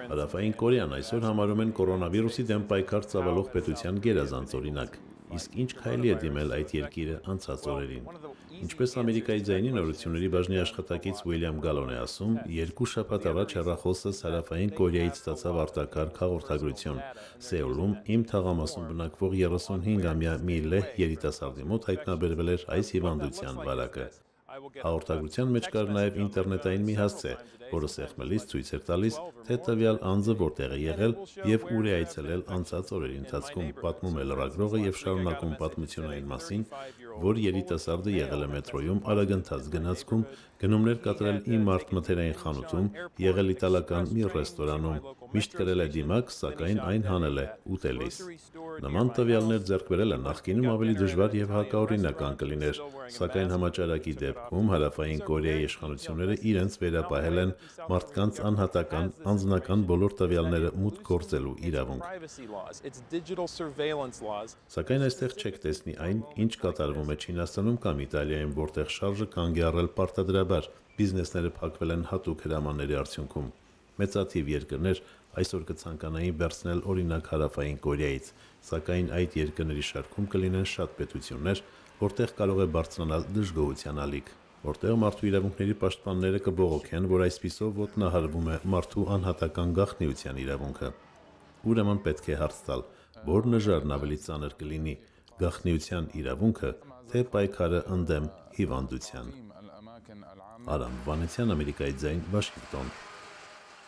Հարավային Կորեան այսօր համարում են կորոնավիրուսի դեմ պայքար ծավալող պետության գերազանց օրինակ, իսկ ինչ քայլի է դիմել այդ երկիրը անցած օրերին։ Ինչպես Ամերիկայի ձայնի նորությունների բաժնի աշխատակից Ուիլյամ Գալոն է ասում, 2 շաբաթ առաջ հեռախոսս Հարավային Կորեայից ստացավ արտակարգ հաղորդագրություն։ Սեուլում իմ թաղամասում բնակվող 35-ամյա մի լեհ երիտասարդի մոտ հայտնաբերվել էր այս հիվանդության վարակը։ Հաղորդագրության մեջ կար նաև ինտերնետային մի հասցե, որը սեղմելիս ցույց էր տալիս, թե տվյալ անձը որտեղ է եղել եւ ուր է այցելել անցած օրերի ընթացքում, պատմում է լրագրողը եւ շարունակում պատմությունը այն մասին, որ երիտասարդը եղել է մետրոյում արագընթաց գնացքում, գնումներ կատարել Իմարտ մթերային խանութում, եղել իտալական մի ռեստորանում, միշտ կրել է դիմակ, սակայն այն հանել է ուտելիս։ Նման տվյալներ ձեռք բերելը նախկինում ավելի դժվար եւ հակաօրինական կլիներ, սակայն համաճարակի դեպքում Հարավային Կորեայի իշխանությունները իրենց վերապահել են մարդկանց անհատական, անձնական բոլոր տվյալները մուտք գործելու իրավունք։ Սակայն այստեղ չեք տեսնի այն, ինչ կատարվում է Չինաստանում կամ Իտալիայում, որտեղ շարժը կանգ է առել պարտադրաբար, բիզնեսները փակվել են հատուկ հրամանների արդյունքում։ Մեծաթիվ երկրներ այսօր կցանկանային վերցնել օրինակ Հարավային Կորեայից, սակայն այդ երկրների շարքում կլինեն շատ պետություններ, որտեղ կարող է բարձրանալ դժգոհության ալիք, որտեղ մարդու իրավունքների պաշտպանները կբողոքեն, որ այսպիսով ոտնահարվում է մարդու անհատական գաղտնիության իրավունքը։ Ուրեմն պետք է հարց տալ, որ նժարն ավելի ծանր կլինի՝ գաղտնիության իրավունքը, թե պայքարը ընդդեմ հիվանդության։ Արամ Վանեցյան, Ամերիկայի ձայն, Վաշինգտոն։